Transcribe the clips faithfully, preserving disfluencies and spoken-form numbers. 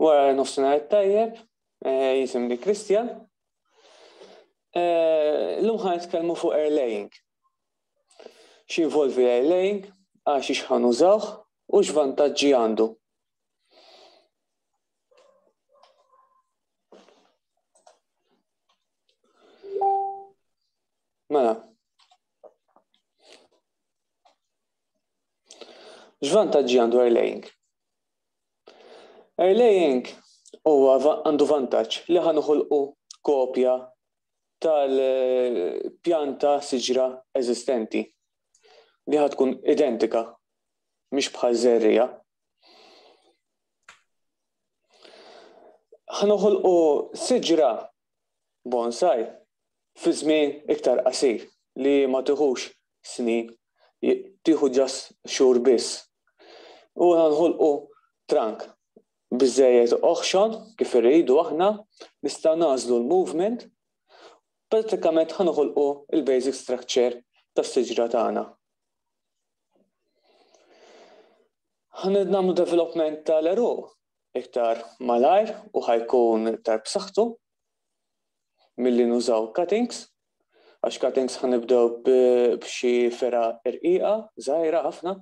Wara nofsinhar tajjeb, jisimni Christian. Illum ħa nitkellmu fuq airlaying. X'involvi airlaying, għax ħa nużawh u x'vantaġġi għandu. Mela. X'vantaġġi għandu airlaying? Airlaying huwa għandu vantaġġ li ħa noħolqu kopja tal-pjanta siġra eżistenti li ħa tkun identika, mhix bħal żerriegħa. Ħa noħolqu siġra bonsai fi żmien iktar qasir li ma tieħux snin, tieħu ġas xhur biss. U ħa noħolqu trunk biżejjed oħxon kif irridu aħna, nista' nagħżlu l-movement, prattikament ħa noħolqu il-basic structure tas-siġra tagħna. Ħa nagħmlu development tal-għeruq iktar malajr u ħajkun iktar b'saħħtu milli nużaw cuttings, għax cuttings ħa nibdew b'xi fergħa irqiqa, żgħira ħafna.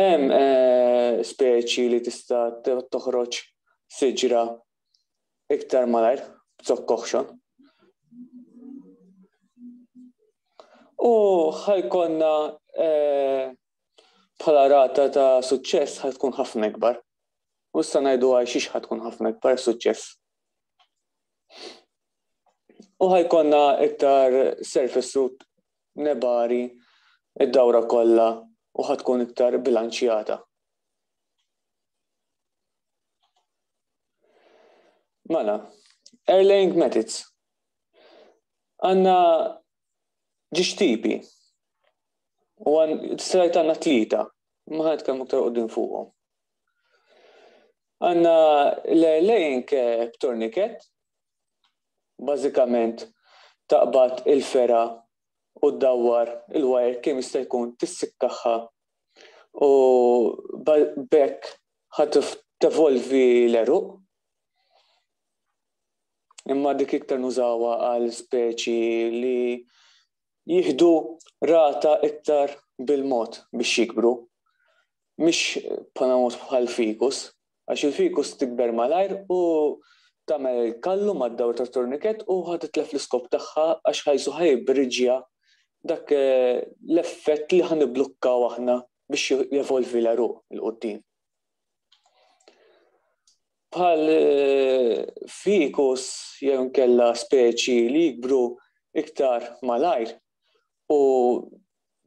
Hemm speċi li tista' toħroġ siġra iktar malajr b'zokk oħxon. U ħajkonna bħala rata ta' suċċess ħa tkun ħafna ikbar. U issa ngħidu għal xiex ħa tkun ħafna ikbar suċċess. U ħajkonna iktar surface root nebari id-dawra kollha u ħa tkun iktar bilanċjata. Mela, airlaying methods. Għandna ġiex tipi u strajt għandna tlieta, ma ħa nitkellmu iktar quddiem fuqhom. Għandna l-airlaying b'tourniquet, bażikament taqbad il-fergħa u ddawwar il-wire kemm jista' jkun tissikkaħħa u b'hekk ħa tevolvi l-għeruq. Imma dik iktar nużawha għal speċi li jieħdu rata iktar bil-mod biex jikbru, mhix bħala mod bħal fikus, għax il-fikus tikber malajr u tagħmel il-kallu mad-dawr tat-tourniquet u ħa titlef l-iskop tagħha għax ħajsu ħajbriġja dak l-effett li ħa niblukkaw aħna biex jevolvi l-għeruq il-quddiem. Bħal fikus jew inkella speċi li jikbru iktar malajr u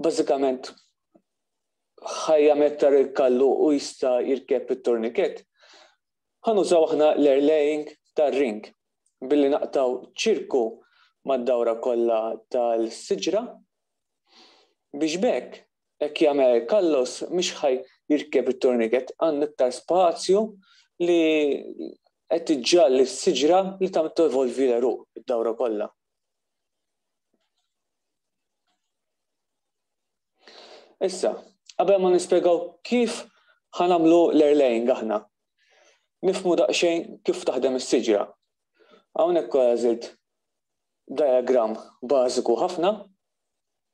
bażikament ħajja iktar il-kallu u jista' jirkeb it-tourniquet, ħa nużaw aħna l-airlaying tar-ring billi naqtaw ċirku mad-dawra kollha tal-siġra biex b'hekk hekk jagħmel kallos mhix ħaj jirkeb it-tourniquet, għandu iktar spazju li qed tiġġalli s-siġra li tagħmel tevolvi l-għeruq id-dawra kollha. Issa, qabel ma nispjegaw kif ħa nagħmlu l-airlaying aħna, nifhmu daqsxejn kif taħdem is-siġra. Hawnhekk għażilt diagram bażiku ħafna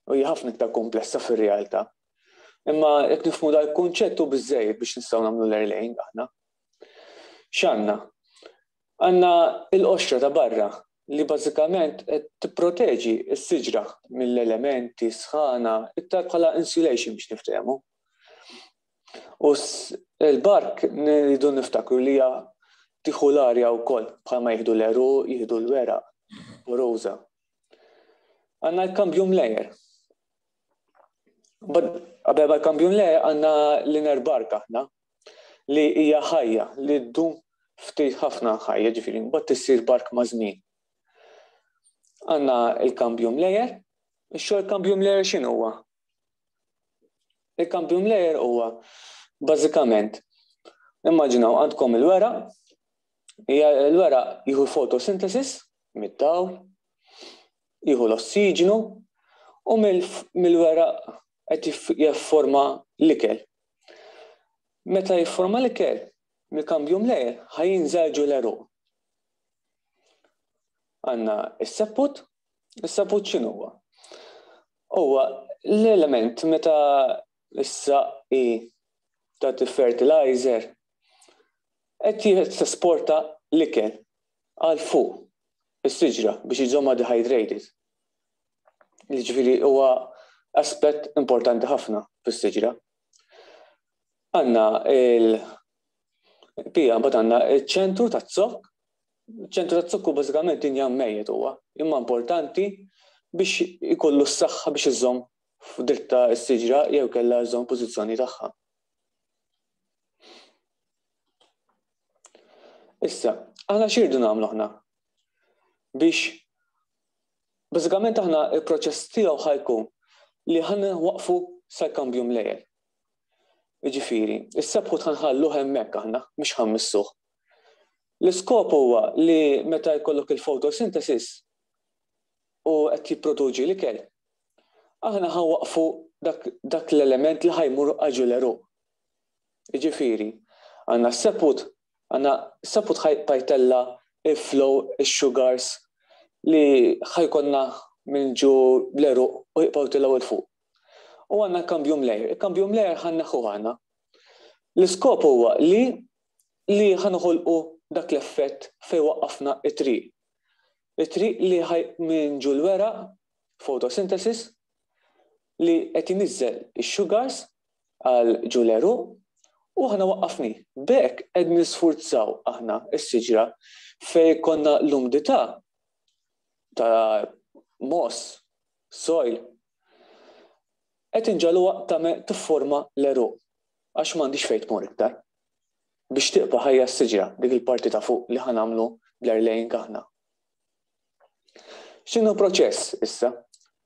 u hija ħafna iktar komplessa fir-realtà. Imma jekk nifhmu dal-kunċett hu biżżejjed biex nistgħu nagħmlu l-airlaying aħna. X'għandna? Għandna l-qoxra ta' barra li bażikament qed tipproteġi s-siġra mill-elementi sħana iktar bħala insulation biex niftehmu. U l-bark nridu niftakru li hija tieħu l-arja wkoll bħalma jieħdu l-għeruq, jieħdu l-weraq u roża. Għandna l-cambium layer. Qabel ma l-cambium layer għandna l-inner bark aħna li hija ħajja li ddum ftit ħafna ħajja, ġifieri mbagħad tissir bark ma' żmien. Għandna il-cambium layer. Ix-xogħol cambium layer x'inhu huwa? Il-cambium layer huwa bażikament immaġinaw għandkom il-weraq, il-weraq jieħu photosynthesis mid-dawl, jieħu l-ossiġnu u mill-weraq qed jifforma l-ikel. Meta jifforma l-ikel, Mill-cambium layer ħa jinżel ġo l-għeruq. Għandna s-sapwood, is-sapwood x'inhu huwa? Huwa l-element meta s-saqqi ta' fertilizer qed tesporta l-ikel għal fuq is-siġra biex iżomma dehydrated. Jiġifieri huwa aspett importanti ħafna fis-siġra. Għandna il-pija, mbagħad għandna iċ-ċentru taz-zokk. Iċ-ċentru taz-zokk bażikament dinja mejjet huwa, imma importanti biex ikollu s-saħħa biex iżomm f'dritta s-siġra jew kellha żomm pożizzjoni tagħha. Issa, aħna x'irdu nagħmlu aħna? Biex bażikament aħna il-proċess tiegħu ħajkun li ħa waqfu sal-cambium layer. Jiġifieri, is-sapwood ħa nħalluh hemmhekk aħna, mhux ħa mmissuh. L-iskop huwa li meta jkollok il-photosynthesis u qed jipproduċi l-ikel, aħna ħa waqfu dak, dak l-element li ħa jmur għal ġo l-għeruq. Jiġifieri, għandna s-sapwood, għandna s-sapwood ħa jtella' il-flow, il-sugars li ħa jkollna minn ġo l-għeruq u jibqgħu tilgħu 'l fuq. U għandna cambium layer. Il-cambium layer ħa nneħħuh aħna. L-iskop huwa li li ħa noħolqu dak l-effett fejn waqqafna it-triq. It-triq li ħaj minn ġo l-weraq, photosynthesis, li qed iniżżel ix-sugars għal ġo l-għeruq u aħna waqqafni. B'hekk qed nisfurzaw aħna s-siġra fejn konna l-umdità ta' moss, soil, qed inġagħluha tagħmel tifforma l-għeruq għax m'għandix fejn tmur iktar. Biex tibqa' ħajja s-siġra dik il-parti ta' fuq li ħa nagħmlu bl-airlaying aħna. X'inhu proċess issa?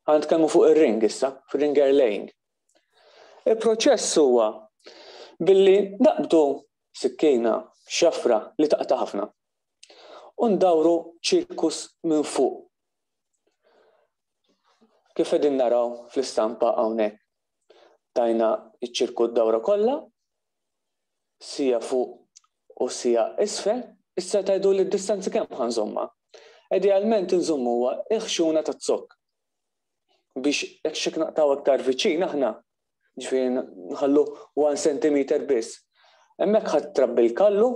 Ħa nitkellmu fuq ir-ring issa, fir-ring airlaying. Il-proċess huwa billi naqbdu sikkina, xafra li taqta' ħafna u ndawru ċirkus minn fuq. Kif qegħdin naraw fl-istampa hawnhekk. Tajna ċ-ċirku d-dawra kollha, sija fuq u sija isfel, issa tajdu li d-distanzi kemm ħa nżommha. Idealment nżommu huwa il-ħxuna taz-zokk. Biex jekk xi naqtaw aktar viċin aħna, ġifieri nħallu one centimeter biss. Hemmhekk ħadd trabbi l-kallu,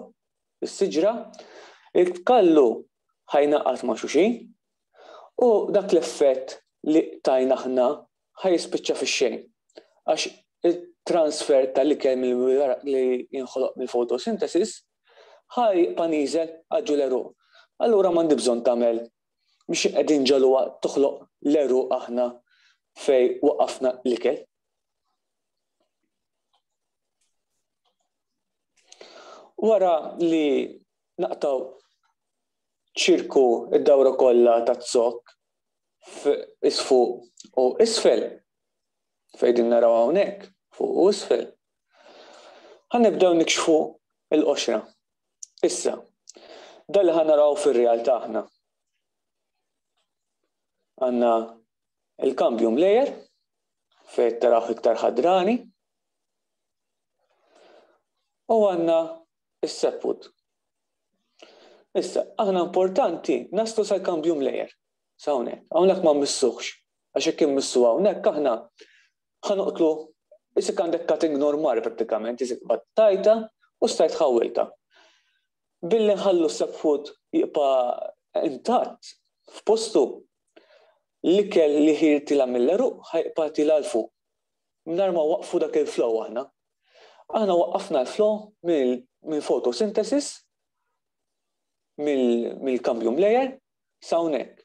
is-siġra, il-kallu ħa jnaqqas ma' xulxin u dak l-effett li tajna aħna ħa jispiċċa fix-xejn. Għax il-transfer tal-ikel mill-weraq li jinħoloq mill-photosynthesis ħa jibqa' nieżel għal ġo l-għeruq. Allura m'għandi bżonn tagħmel biex qegħdin ġaluha toħloq l-għeruq aħna fej waqafna l-ikel. Wara li naqtaw ċirku id-dawra kollha taz-zokk isfuq u isfel, fejn din naraw hawnhekk fuq u isfel, ħa nibdew nikxfu l-qoxra. Issa, dan li ħa naraw fir-realtà aħna. Għandna il-cambium layer fejn taraw iktar ħadrani u għandna is-sapwood. Issa, aħna importanti naslu sal-cambium layer. Hawnhekk, hawnhekk ma mmissuhx, għax jekk immissu hawnhekk aħna ħa noqtlu isik għandek cutting normali prattikament, isik battajta u stajt ħawilta. Billi nħallu s-sapwood jibqa' intatt f'postu, l-ikel li ħirtila mill-għeruq ħa jibqa' tila 'l fuq. Mingħajr ma waqfu dak il-flow aħna. Aħna waqqafna l-flow mill photosynthesis, mill-cambium layer, sa hawnhekk.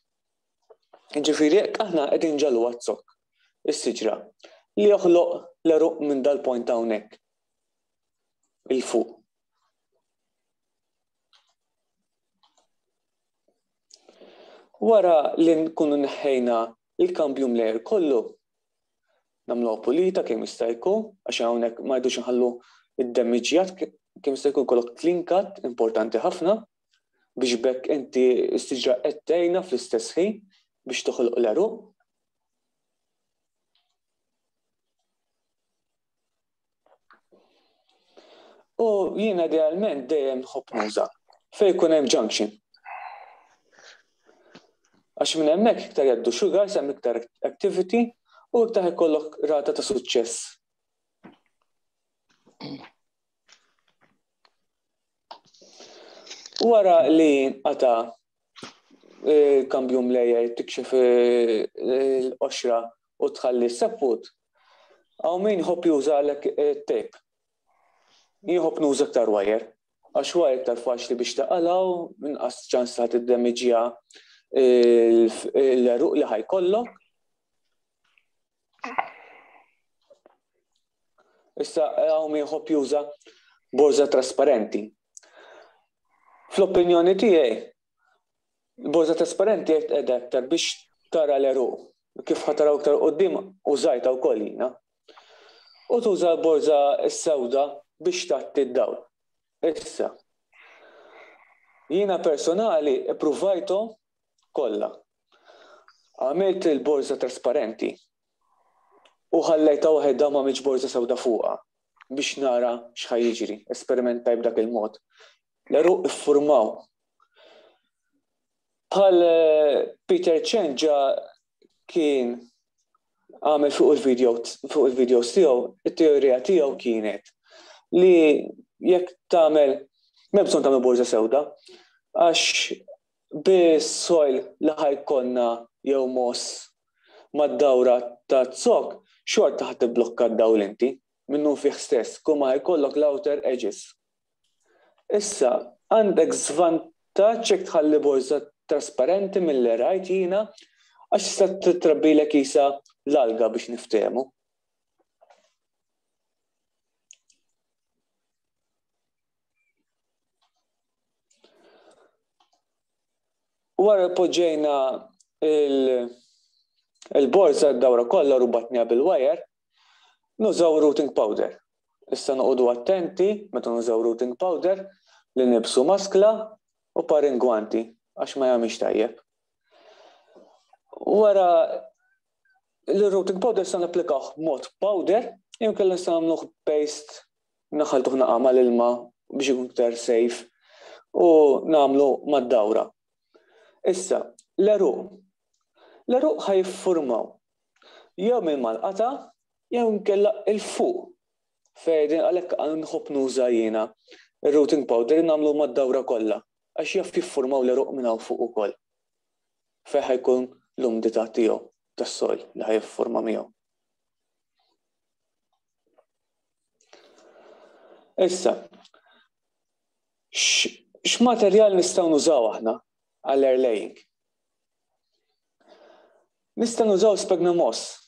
Ġifieri jekk aħna qegħdin ġalu għaz-zokk is-siġra li joħloq l-għeruq minn dal-point hawnhekk il fuq. Wara li nkunu neħħejna il-cambium layer kollu, nagħmluha pulita kemm jista' jkun, għax hawnhekk ma rridux nħallu id-demiġġjat kemm jista' jkun kollok clean cut importanti ħafna biex bekk inti s-siġra qed tgħinha fl-istess ħin biex toħloq l-għeruq. U jiena idealment dejjem nħobb nuża fejn jkun hemm junction. Għax minn hemmhekk iktar jgħaddu sugars, hemm iktar activity u iktar ikollok rata ta' suċċess. Wara li nqata' il-cambium layer tikxef l-qoxra u tħalli s-sapwood, hawn min jħobb juża għalhekk tape. Jien nħobb nuża iktar wire, għax wire iktar faċli biex taqalgħu, inqas ċans ta' tiddemiġja l-għeruq li ħajkollok. Issa hawn min jħobb juża borża trasparenti. Fl-opinjoni tiegħi, borża trasparenti qed qiegħda aktar biex tara l-għeruq. Kif ħa taraw iktar quddiem użajtha wkoll jiena. U tuża l-borża s-sewda biex tgħatti d-dawl. Issa, jiena personali ippruvajthom kollha. Għamilt il-borża trasparenti u ħallejtha waħedha ma għamiltx borża sewda fuqha biex nara x'ħa jiġri. Esperimentaj b'dak il-mod. L-għeruq iffurmaw. Bħal Peter Chen ġa kien għamel fuq il-video fuq il-videos tiegħu, it-teorija tiegħu kienet li jekk tagħmel m'hemm bżonn tagħmel borża sewda, għax bis-soil li ħajkonna jew moss mad-dawra ta' zokk, xorta ħa tibblokka d-dawl inti minnu fih stess, kull ma ħajkollok l-outer edges. Issa, għandek żvantaġġ jekk tħalli borża trasparenti mill-li rajt jiena, għax tista' titrabbilek isa l-alga biex niftehmu. Wara poġġejna il-borża d-dawra kollha rubatniha bil-wire, nużaw rooting powder. Issa noqogħdu attenti meta nużaw rooting powder li nibsu maskla u par ingwanti għax ma jagħmilx tajjeb. Wara l-rooting powder sa napplikawh b'mod powder, jew kellna nistgħu nagħmluh paste, naħaltuh naqa' mal-ilma biex ikun iktar safe u nagħmlu mad-dawra. Issa, l-għeruq. L-għeruq ħa jiffurmaw jew minn mal-qata jew inkella il-fuq. Fejn għalhekk nħobb nuża jiena ir-rooting powder nagħmlu mad-dawra kollha għax jaf jiffurmaw l-għeruq minn hawn fuq ukoll. Fejn ħajkun l-umdità tiegħu tas-soil li ħajjiffurma miegħu. Issa, x'materjal nistgħu nużaw aħna għall-air laying? Nistgħu nużaw sphagnum moss.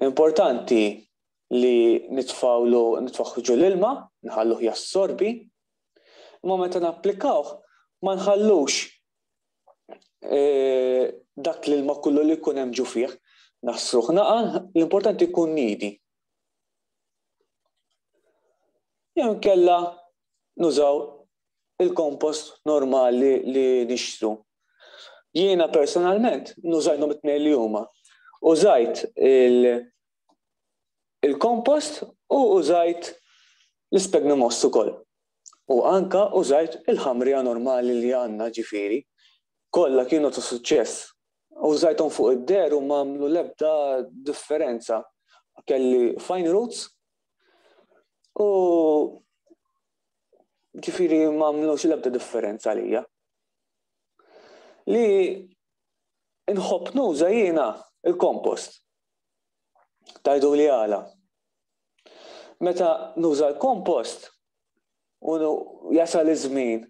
Importanti li nitfawlu, nitfaħħu ġol ilma, nħalluh jassorbi, imma meta napplikawh ma nħallux, eh, dak l-ilma kollu li jkun hemm ġu fih, naħsruh naqa, l-importanti jkun nidi. Jew inkella nużaw il-kompost normali li nixtru. Jiena personalment nużajthom it-tnejn li huma. Użajt il-kompost u użajt l-sphagnum moss ukoll. U anka użajt il-ħamrija normali li għandna ġifieri. Kollha kienu ta' suċċess. Użajthom fuq id-der u ma għamlu l-ebda differenza. Kelli fine roots u ġifieri ma għamlux l-ebda differenza għalija. Li nħobb nuża jiena il-kompost. Tajdu li għala. Meta nuża l-kompost u jasal iż-żmien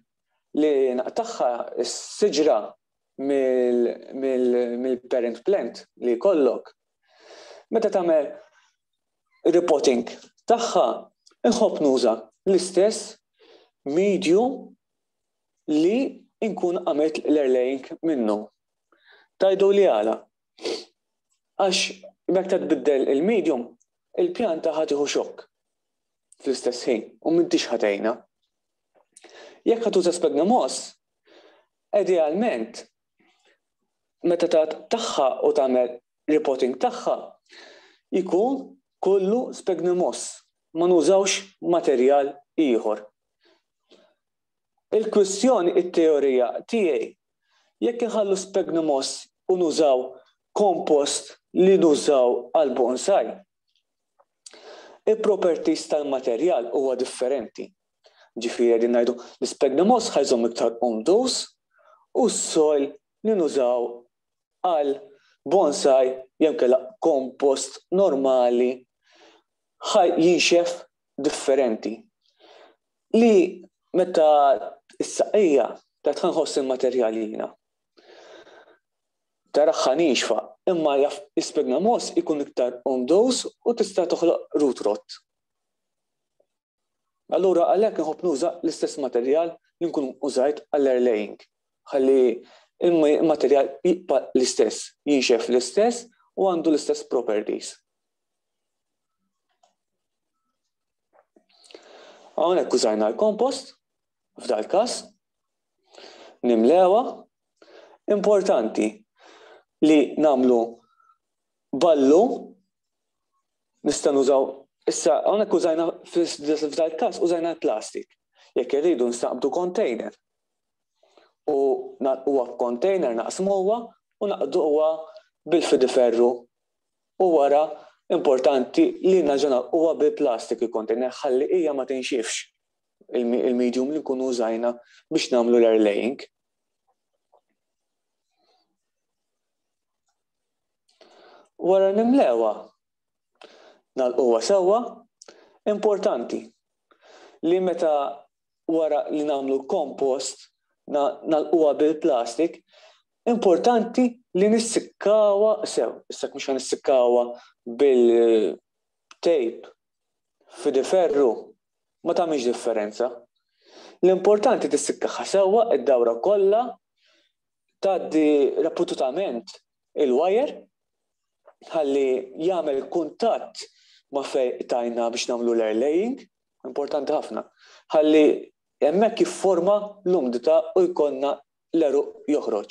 li naqtagħha s-siġra mill-parent plant li jkollok, meta tagħmel repotting tagħha, nħobb nuża l-istess medium li nkun għamilt l-airlaying minnu. Tajdu li għala. Għax meta tbiddel il-medium, il-pjanta ħa tieħu xokk fl-istess ħin u m'intix ħatejna. Jekk ħa tuża sphagnum moss, idealment meta tagħha u tagħmel repotting tagħha, jkun kollu sphagnum moss. Ma nużawx materjal ieħor. Il-kwistjoni, it-teorija tiegħi, jekk inħallu sphagnum moss u nużaw kompost li nużaw għal bonsai, il-properties tal-materjal huwa differenti. Ġifieri qegħdin ngħidu l-sphagnum moss ħa jżomm iktar umdus u s-soil li nużaw għal bonsai jew kellha kompost normali ħa jinxef differenti. Li meta s-saqija ta' tħanħoss il-materjal jiena. Taraħħa nixfa, imma jaf sphagnum moss ikun iktar umdus u tista' toħloq root rot. Allura għalhekk nħobb nuża l-istess materjal li nkun użajt għall-airlaying. Ħalli il-materjal jibqa' l-istess, jinxef l-istess u għandu l-istess properties. Hawnhekk użajna l-kompost, f'dal każ, nimlewa. Importanti li nagħmlu ballu, nista' nużaw, issa hawnhekk użajna f'dal każ użajna l-plastik. Jekk irridu nistaqbdu container. U huwa container naqsmuha u naqduha bil-fidiferru. U wara importanti li naġuna huwa bil-plastik il-container ħalli hija ma tinxifx il-medium li nkunu użajna biex nagħmlu l-airlaying. Wara nimlewa nagħlquha sewwa, importanti li meta wara li nagħmlu kompost nagħlquha bil-plastik, importanti li nissikkawha sew. Issa mhux nissikkawha bil-tape fidiferru ma tagħmilx differenza. L-importanti tissikkaha sewwa id-dawra kollha, tgħaddi ripetutament il-wire ħalli jagħmel kuntatt ma' fejn tajna biex nagħmlu l-airlaying, importanti ħafna. Ħalli hemmhekk jifforma l-umdità u jkollna l-għeruq joħroġ.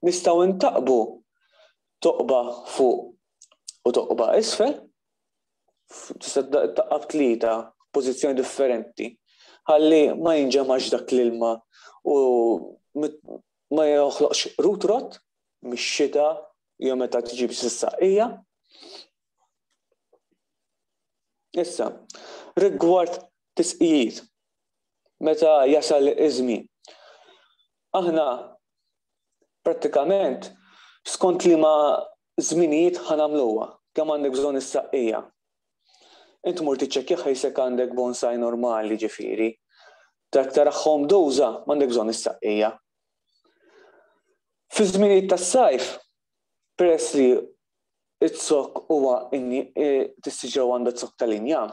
Nistgħu ntaqbu toqba fuq u toqba isfel, tista' taqqab tlieta pożizzjoni differenti, ħalli ma jinġemax dak l-ilma u ma joħloqx root rot mix-xita jew meta tiġi biex is-saqija. Issa, rigward tisqijiet, meta jasal iż-żmien. Aħna prattikament skont li ma żminijiet ħanamluha, kemm għandek bżonn is-saqqija. Int mur tiċċekkja ħajsek għandek bonsai normali ġifieri. Dak taraħħom doża m'għandek bżonn is-saqqija. Fi żminijiet tas-sajf, peress li it-zokk huwa tissiġew għandha zokk tal-injam,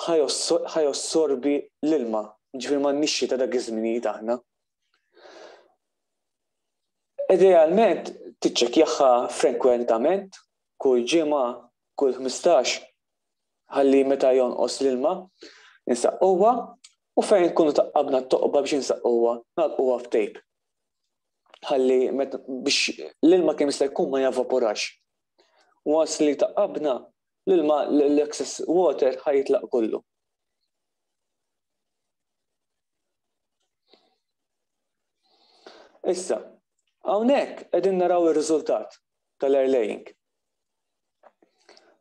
ħajossorbi l-ilma, ġifieri m'għandniex xita dak iż-żminijiet aħna. Idealment tiċċekkjaha frekwentament, kull ġimgħa, kull ħmistax, ħalli meta jonqos l-ilma insaqquha u fejn nkunu taqqabna t-toqba biex insaqquha nagħlquha f'tejp. Ħalli biex l-ilma kemm jista' jkun ma javaporax. Once li taqqabna l-ilma l-excess water ħajitlaq kollu. Issa, hawnhekk qegħdin naraw ir-riżultat tal-airlaying.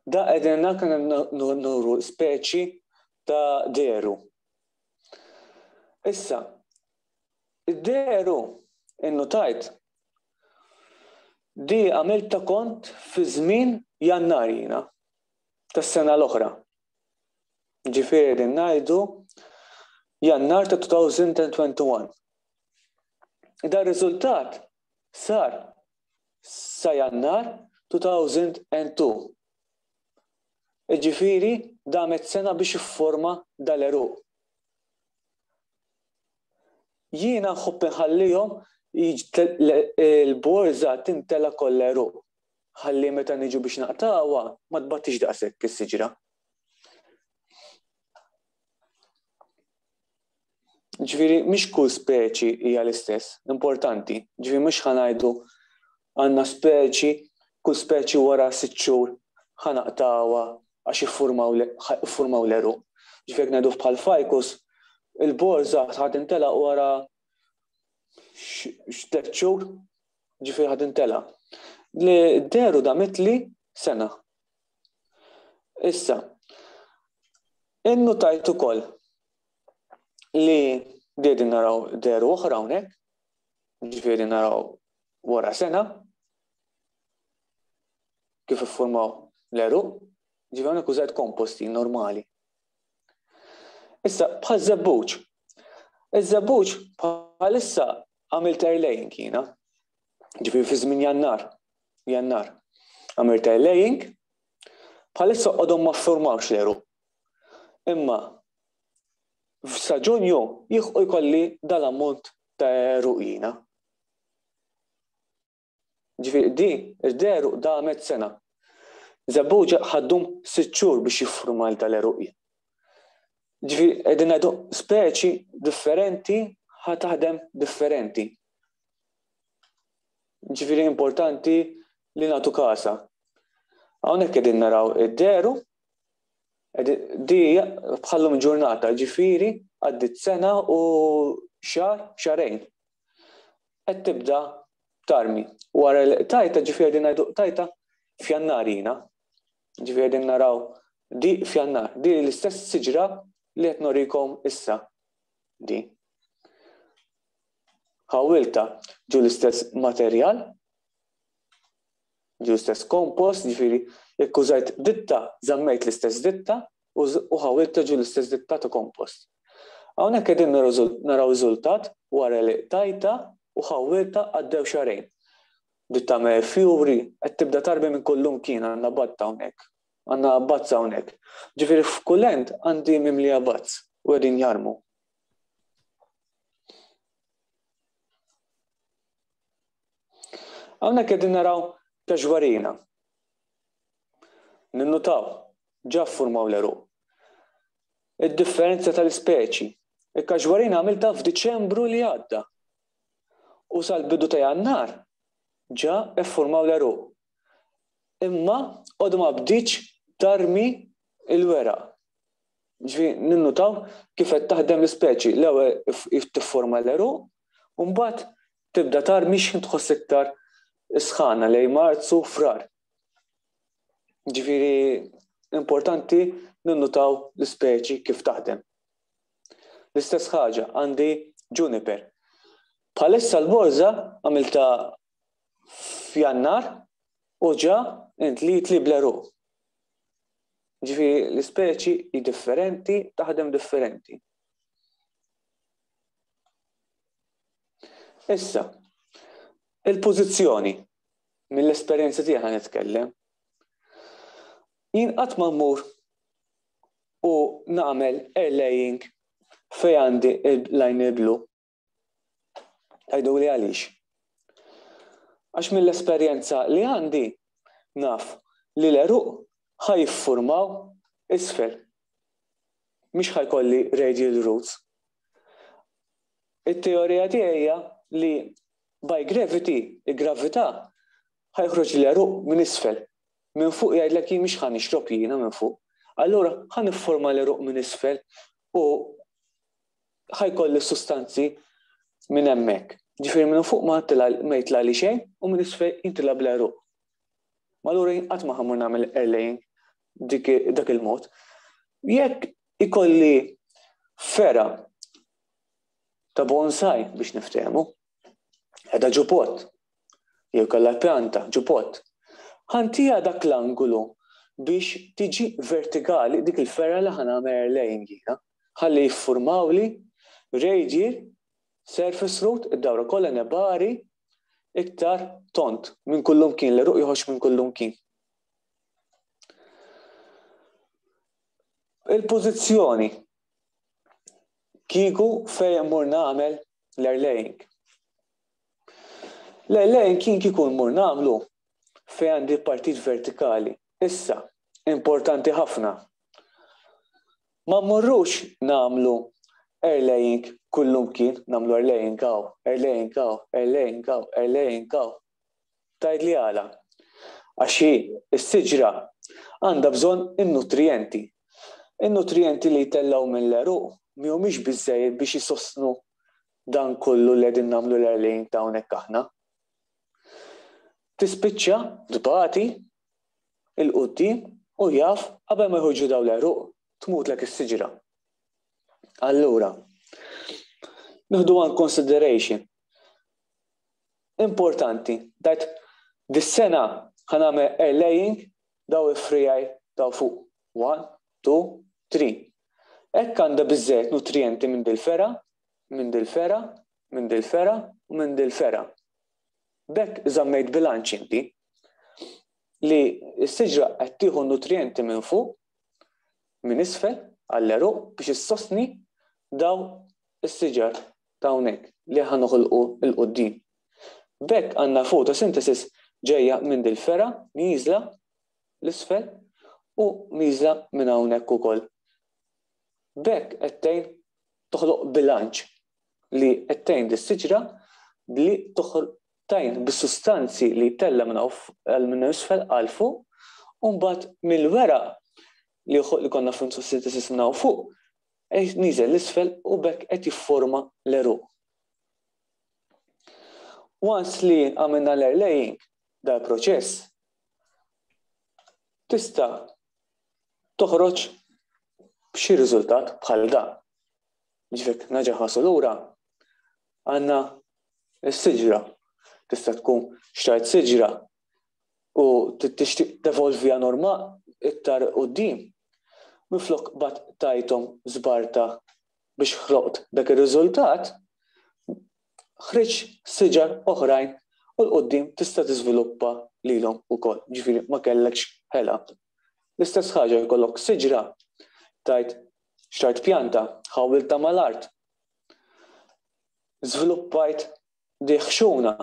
Da qegħdin nagħmlu nuru speċi ta' deru. Issa, id-deru innutajt di għamilta kont fi żmien Jannar jiena tas-sena l-oħra. Ġifieri din ngħidu Jannar ta' two thousand twenty-one. Da riżultat sar sa Jannar two thousand two. Ġifieri damet sena biex ifforma dal-għeruq. Jiena nħobb inħallihom il-borża tintela kollha għeruq. Ħalli meta niġu biex naqtawha ma tbattix daqshekk is-siġra. Ġifieri mhix kull speċi hija l-istess, importanti. Ġifieri mhux ħa ngħidu għandna speċi, kull speċi wara sitt xhur ħa naqtawha għax iffurmaw l-għeruq. Ġifieri ngħidu bħal ficus, il-borża ħa timtela wara tliet xhur, ġifieri ħa timtela. Li deru damitli sena. Issa, innutajt ukoll li qegħdin naraw deru oħra hawnhekk, ġifieri naraw wara sena, kif iffurmaw l-għeruq, ġifieri hawnhekk użajt komposti normali. Issa, bħal żebbuġ. Iż-żebbuġ bħalissa għamilt airlaying jiena. Ġifieri fi żmien Jannar. Jannar. Għamilt airlaying, bħalissa għadhom ma ffurmawx l-għeruq. Imma f'sa Ġunju jieħu jkolli dal-ammont ta' għeruq jiena. Ġifieri di, id-għeruq damet sena. Żebbuġa ħa ddum sitt xhur biex jiffurma tal-għeruq. Ġifieri qegħdin ngħidu speċi differenti ħa taħdem differenti. Ġifieri importanti li nagħtu kasa. Hawnhekk qegħdin naraw id-deru, di bħallum ġurnata, ġifieri għaddit sena u xahar, xahrejn. Qed tibda tarmi. Wara l-tajta, ġifieri qegħdin ngħidu tajta f'Jannar jiena. Ġifieri qegħdin naraw di f'Jannar, di l-istess siġra li qed norikom issa. Di. Ħawilta ġu l-istess materjal, ġu l-istess kompost, ġifieri jekk użajt ditta, żammejt l-istess ditta u ħawilta ġu l-istess ditta ta' kompost. Hawnhekk qegħdin naraw riżultat wara li tajta u ħawilta għaddew xahrejn. Ditta me fjuri qed tibda tarbi minn kullum kien għandna batta hawnhekk, għandna bazza hawnhekk. Ġifieri f'kull end għandi mimlija bazz u qegħdin jarmu. Hawnhekk qegħdin naraw kaxwarina. Ninnutaw, ġa ffurmaw l-għeruq. Id-differenza tal-ispeċi. Il-kaxwarina għamilta f'Diċembru li għadda. U sal-bidu ta' Jannar ġa ffurmaw l-għeruq. Imma għadu ma bdietx tarmi il-weraq. Ġifieri ninnutaw kif qed taħdem l-ispeċi. L-ewwel tifforma l-għeruq, u mbagħad tibda tarmi x'ħin tħoss iktar sħana lejn Marzu, Frar. Ġifieri importanti ninnutaw l-ispeċi kif taħdem. L-istess ħaġa għandi juniper. Bħalissa l-borża għamilta f'Jannar u ġa intliet li bl-għeruq. Ġifieri l-ispeċi hi differenti, taħdem differenti. Issa, il-pożizzjoni, mill-esperjenza tiegħi nitkellem. Jien qatt ma mmur u nagħmel airlaying fejn għandi il-line blu. Tgħidu li għaliex? Għax mill-esperjenza li għandi naf li l-għeruq ħa jiffurmaw isfel. Mhix ħa jkolli radial roots. It-teorija tiegħi hija li by gravity, il-gravità, ħa joħroġ l-għeruq minn isfel. Minn fuq jgħidlek jien mhix ħa nixrob jiena minn fuq. Allura ħa nifforma l-għeruq minn isfel u ħa jkolli sustanzi minn hemmhekk. Ġifieri minn fuq ma jitlali xejn u minn isfel jintila bl-għeruq. Ma allura jien qatt ma ħammur nagħmel airlaying dak il-mod. Jekk ikolli fera ta' bonsai biex niftehmu, qiegħda ġo pot, jew kellha pjanta ġo pot, ħantija dak l-angolu biex tiġi vertikali dik il-ferra li ħa nagħmel airlaying jiena, ħalli jiffurmawli radial surface root, id-dawra kollha nebari iktar tont minn kullum kien, l-għeruq joħroġ minn kullum kien. Il-pożizzjoni kieku fejn mmur nagħmel l-airlaying. L-airlaying kien kieku mmur nagħmlu fejn għandi partit vertikali. Issa, importanti ħafna. Ma mmorrux nagħmlu airlaying kullum kien, nagħmlu airlaying hawn, airlaying hawn, airlaying hawn, airlaying hawn. Tgħid li għala? Għax hi s-siġra għandha bżonn in-nutrijenti. In-nutrienti li jtellaw mill-għeruq mhumiex biżejjed biex jisostnu dan kollu li qegħdin nagħmlu l-air ta' hawnhekk aħna. Tispiċċa tbati 'il quddiem u jaf qabel ma jħorġu daw l-għeruq tmutlek is-siġra. Allura, nieħdu one consideration. Importanti, that dis-sena ħa nagħmel air laying daw il-friegħi daw fuq. One, two, three. Hekk għandha biżżejjed nutrienti minn dil-fergħa, minn dil-fergħa, minn dil-fergħa u minn dil-fergħa. B'hekk żammejt bilanċ inti li s-siġra qed tieħu nutrienti minn fuq, minn isfel għall-għeruq biex issostni daw is-siġar ta' hawnhekk li ħa noħolqu 'l quddiem. B'hekk għandna photosynthesis ġejja minn dil-fergħa nieżla 'l isfel u nieżla minn hawnhekk ukoll. B'hekk qed tgħin toħloq bilanċ li qed tgħin dis-siġra li tgħin bis-sustanzi li tella minn minn isfel għal fuq u mbagħad mill-weraq li li konna photosynthesis minn hawn fuq nieżel 'l isfel u b'hekk qed jifforma l-għeruq. Once li għamilna l-air laying dal-proċess, tista' toħroġ b'xi riżultat bħal da. Ġifieri nerġa' nħarsu lura għandna s-siġra. Tista' tkun xtrajt siġra u tixtieq tevolvija norma iktar quddiem. Minflok bat tajthom żbarta biex ħloqt dak ir-riżultat, ħriġ siġar oħrajn u 'l quddiem tista' tiżviluppa lilhom ukoll, ġifieri ma kellekx ħela. L-istess ħaġa jkollok siġra tajt xtrajt pjanta, ħawilta mal-art. Żviluppajt di ħxuna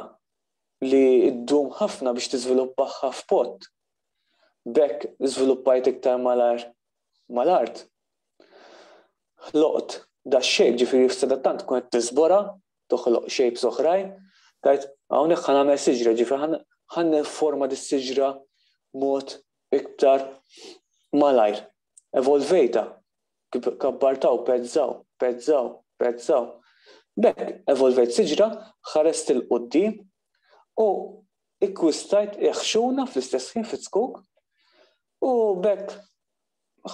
li ddum ħafna biex tiżviluppaha f'pot. B'hekk żviluppajt iktar malajr mal-art. Ħloqt da shape ġifieri f'sadattant tkun qed tiżbora, toħloq shapes oħrajn, tajt hawnhekk ħa nagħmel siġra, ġifieri ħa nifforma dis-siġra mod iktar malajr. Evolvejta, kabbartaw, pezzaw, pezzaw, pezzaw. B'hekk evolvejt siġra, ħarest 'il quddiem u ikkwistajt ħxuna fl-istess ħin fit-zkuk u b'hekk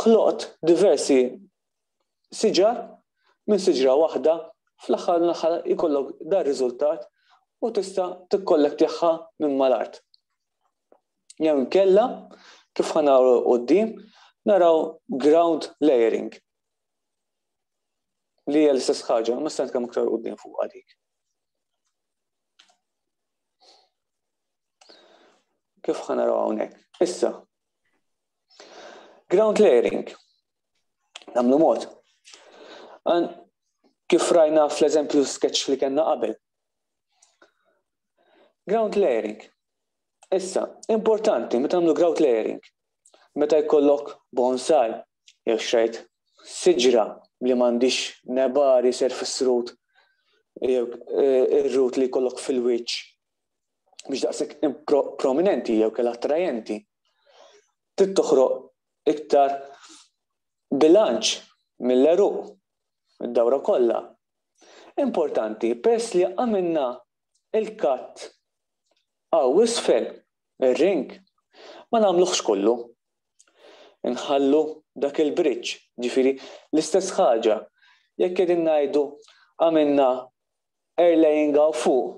ħloqt diversi siġar minn siġra waħda fl-aħħar l-aħħar ikollok dar riżultat u tista' tikkollektjaha minn mal-art. Jew inkella kif ħa naraw quddiem naraw ground layering li hija l-istess ħaġa, ma se nitkellmu aktar quddiem fuq dik. Kif ħa naraw hawnhekk. Issa, ground layering. Nagħmlu mod. Kif rajna fl-eżempju sketch li kellna qabel. Ground layering. Issa, importanti, meta nagħmlu ground layering, meta jkollok bonsai, jew xtrajt siġra li m'għandix nebari surface root, jew eh, ir-root li jkollok fil-wiċċ biex daqshekk prominenti jew kellha attrajenti. Trid toħroq iktar bilanċ mill-għeruq id-dawra kollha. Importanti, peress li għamilna il-cut hawn isfel ir-ring, ma nagħmluhx kollu. Nħallu dak il-bridge, ġifieri l-istess ħaġa. Jekk qegħdin ngħidu għamilna air laying hawn fuq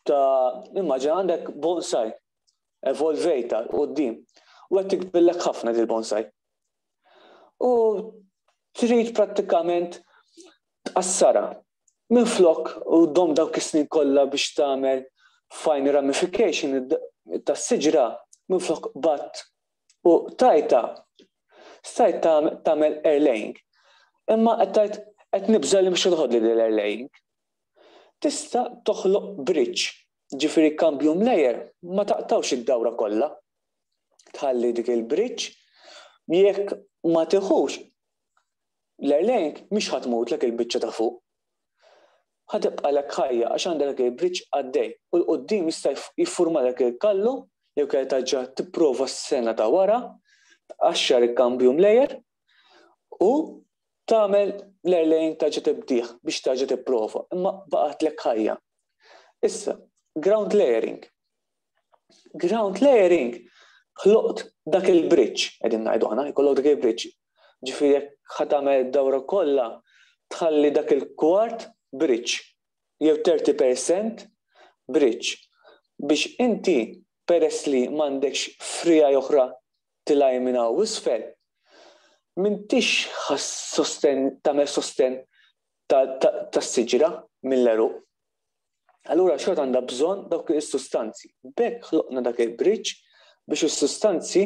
ta' immaġina għandek bonsai evolvejta quddiem u qed tikbillek ħafna dil-bonsai. U trid prattikament tqassara. Minflok u dom dawk is-snin kollha biex tagħmel fine ramification tas-siġra minflok bat u tajta stajt tagħmel air laying. Imma qed tajt qed nibża li mhux toħodli l-air laying. Tista' toħloq bridge, ġifieri cambium layer, ma taqtawx id-dawra kollha. Tħalli dik il-bridge, jekk ma tiħux l-air laying mhix ħa tmutlek il-biċċa ta' fuq. Ħa tibqalek ħajja għax għandek il-bridge għaddej u 'l quddiem jista' jiffurmalek il-kallu jew kellha taġġa tipprova s-sena ta' wara, tqaxxar il-cambium layer U tagħmel l-airlaying terġa' tibdih biex terġa' tipprova, imma baqgħetlek ħajja. Issa, ground layering. Ground layering ħloqt dak il-bridge, qegħdin ngħidu aħna, jkollok dak il-bridge. Ġifieri jekk ħa tagħmel dawra kollha tħalli dak il-kwart bridge jew thirty percent bridge biex inti, peress li m'għandekx friegħa oħra tilgħa minn hawn isfel, m'intix sosten tagħmel sosten tas-siġra mill-għeruq. Allura xorta għandha bżonn dawk is-sustanzi. B'hekk ħloqna dak il-bridge biex is-sustanzi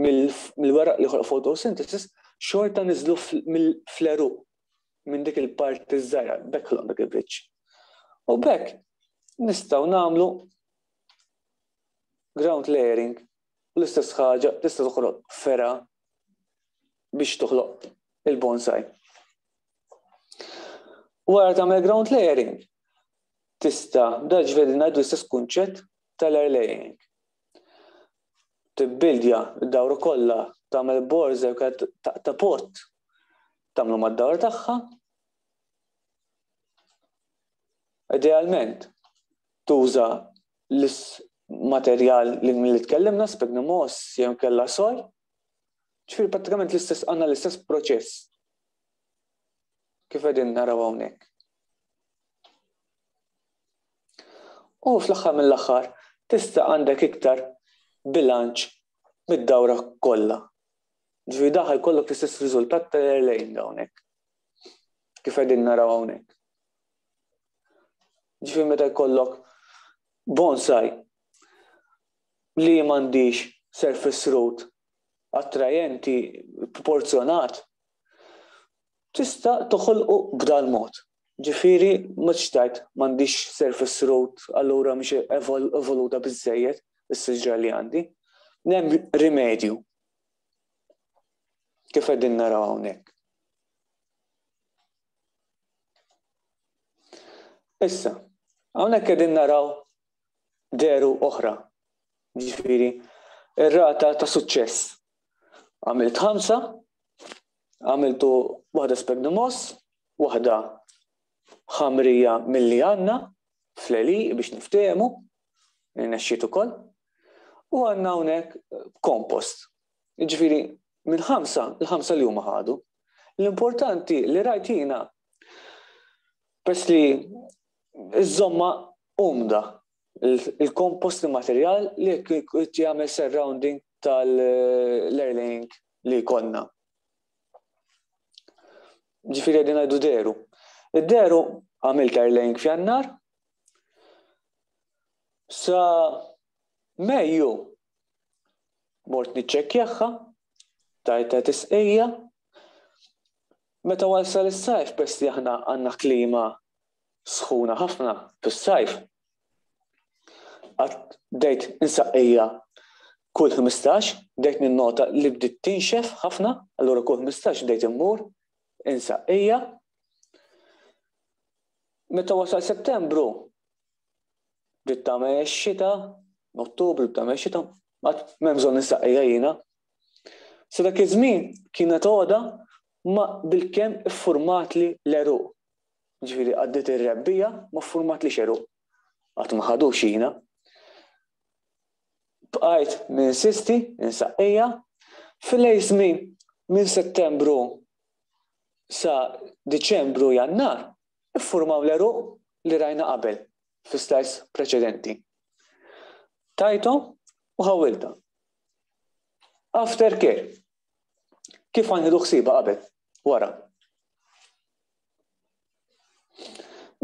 mill-weraq li ħoloq photosynthesis xorta niżlu fl-għeruq minn dik il-parti żgħira, b'hekk ħloqna dak il-bridge. U b'hekk nistgħu nagħmlu ground layering. L-istess ħaġa tista' toħloq fergħa biex toħloq il-bonsai. Wara tagħmel ground layering, tista' da ġifieri ngħidu l-istess kunċett tal-air layering. Tibbildja d-dawra kollha, tagħmel borza ta' pot, tagħmlu mad-dawra tagħha. Idealment, tuża l-materjal li li tkellimna, sphagnum moss jew kella soil. Ġifieri prattikament l-istess, għandna l-istess proċess kif qegħdin naraw hawnhekk. U fl-aħħar mill-aħħar tista' għandek iktar bilanċ mid-dawra kollha. Ġifieri daħ jkollok l-istess riżultat tal-airlaying hawnhekk. Kif qegħdin naraw hawnhekk. Ġifieri meta jkollok bonsai li m'għandix surface root attrajenti, proporzjonat, tista' toħolqu b'dal mod. Ġifieri ma tixtajt m'għandix surface root, allura mhix evoluta biżejjed is-siġra li għandi. Hemm rimedju. Kif qegħdin naraw hawnhekk. Issa, hawnhekk qegħdin naraw deru oħra. Ġifieri, ir-rata ta' suċċess. Għamilt ħamsa, għamiltu waħda sphagnum moss, waħda ħamrija milli għandna fl-għeli biex niftehmu, nexxiet ukoll, u għandna hawnhekk kompost. Ġifieri, minn ħamsa, il-ħamsa li huma ħadu. L-importanti li rajt jiena, peress li iż-żomma umda, il-kompost, il-materjal li jagħmel surrounding tal-airlaying li konna. Ġifieri qegħdin ngħidu deru. Id-deru għamilt airlaying f'Jannar, sa Mejju mort niċċekkjaha, tajta tisqija. Meta wasal is-sajf, peress li aħna għandna klima sħuna ħafna fis-sajf, għad bdejt insaqqija kull ħmistax, bdejt ninnota li bdiet tinxef ħafna, allura kull ħmistax bdejt immur insaqqija. Meta wasal Settembru, bdiet tagħmel ix-xita, Ottubru bdiet tagħmel ix-xita, għad m'hemm bżonn insaqqija jiena. Sa dak iż-żmien kienet għoda ma bilkemm iffurmatli l-għeruq. Ġifieri għaddiet ir-rebbija ma ffurmatli x'għeruq. Qatt ma ħadux jiena. Bqajt ninsisti, insaqqija. Fil-lejl żmien minn Settembru sa Diċembru, Jannar, iffurmaw l-għeruq li rajna qabel fis-slides preċedenti. Tajthom u ħawilta. Aftercare. Kif għandu ħsiba qabel, wara.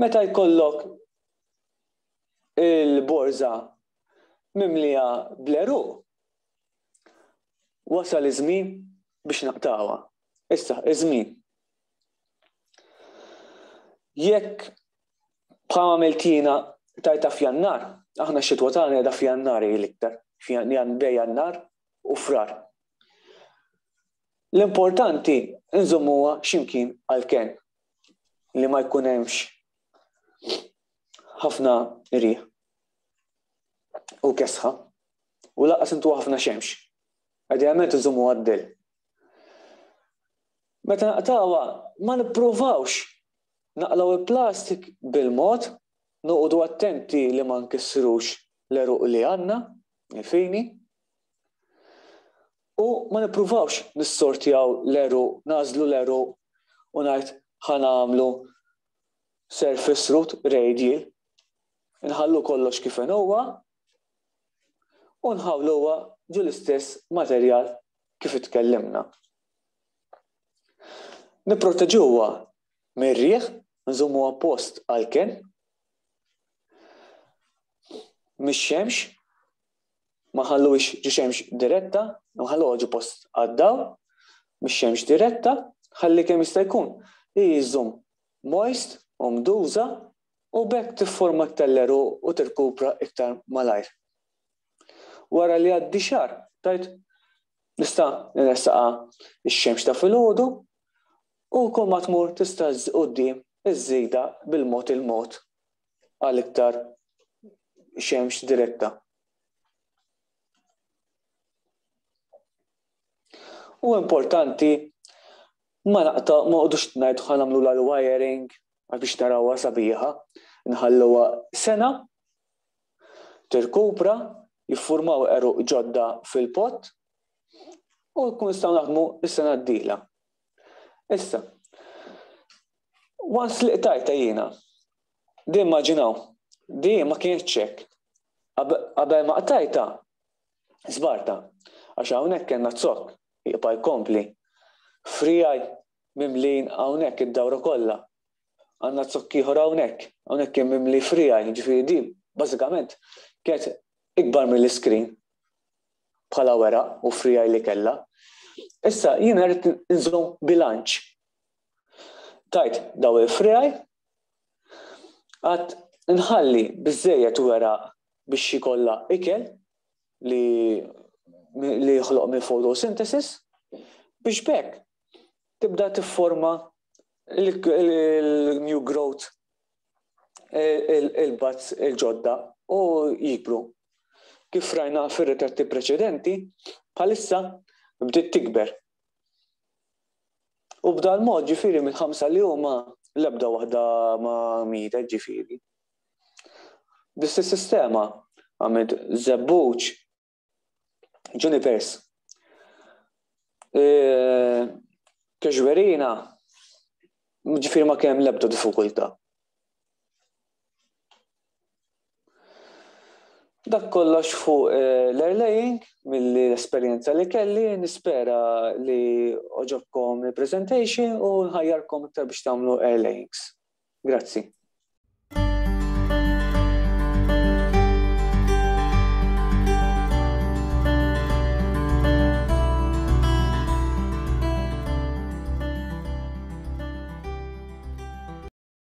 Meta jkollok il-borża mimlija bl-għeruq, wasal iż-żmien biex naqtawha. Issa, iż-żmien. Jekk bħal għamilt jiena tajta f'Jannar, aħna x-xitwa tagħna qiegħda f'Jannar hi l-iktar, bejn Jannar u Frar. L-importanti nżommuha x'imkien għall-kenn li ma jkun hemmx ħafna riħ u kesħa u lanqas intu ħafna xemx. Idealment nżommuha d-dell. Meta naqtgħuha, ma nippruvawx naqilgħu il-plastik bil-mod, noqogħdu attenti li ma nkissrux l-għeruq li għandna, fini. U ma nippruvawx nissortjaw l-għeruq, nagħżlu l-għeruq u ngħid ħa nagħmlu surface root radial. Nħallu kollox kif huwa u nħawluha ġo l-istess materjal kif itkellimna. Nipproteġuha mir-riħ, nżommuha post għal-kenn, mix-xemx, ma nħalluhiex ġo xemx diretta, nħalluha ġo post għad-dawl, mix-xemx diretta, ħalli kemm jista' jkun iżżomm moist u mduża u b'hekk tifforma iktar l-għeruq u tirkupra iktar malajr. Wara li għaddi xahar, tajt nista' nressaqha x-xemx ta' filgħodu u kull ma tmur tista' quddiem iżżida bil-mod il-mod għal iktar xemx diretta. U importanti ma naqta ma qogħdux ngħidu ħa nagħmlu l-wiring biex narawha sabiħa, nħalluha sena tirkupra, jiffurmaw għeruq ġodda fil-pot u nkun nistgħu naħdmu s-sena d-dieħla. Issa, once li qtajta jiena, di immaġinaw, di ma kienx hekk. Qabel ma qtajta, żbarta, għax hawnhekk kellna zokk, jibqa' jkompli. Frijaj mimlin hawnhekk id-dawra kollha. Għandna zokk ieħor hawnhekk, hawnhekk kien mimli frijaj, ġifieri di bażikament kienet ikbar mill-iskrin bħala weraq u frijaj li kellha. Issa jiena rrid nżomm bilanċ. Tajt daw il-frijaj, għad nħalli biżejjed weraq biex jkollha ikel li li joħloq minn photosynthesis biex b'hekk tibda tifforma il-new growth, il-buds il-ġodda u jikbru. Kif rajna fir-ritratti preċedenti, bħalissa bdiet tikber. U b'dal mod ġifieri mill-ħamsa li huma l-ebda waħda ma mietet ġifieri. Bl-istess sistema għamilt żebbuġ, junipers, casuarina, ġifieri ma kemm l-ebda diffikultà. Dak kollox fuq l-airlaying mill-esperjenza li kelli, nispera li għoġobkom il-presentation u nħajjarkom iktar biex tagħmlu airlayings. Grazzi.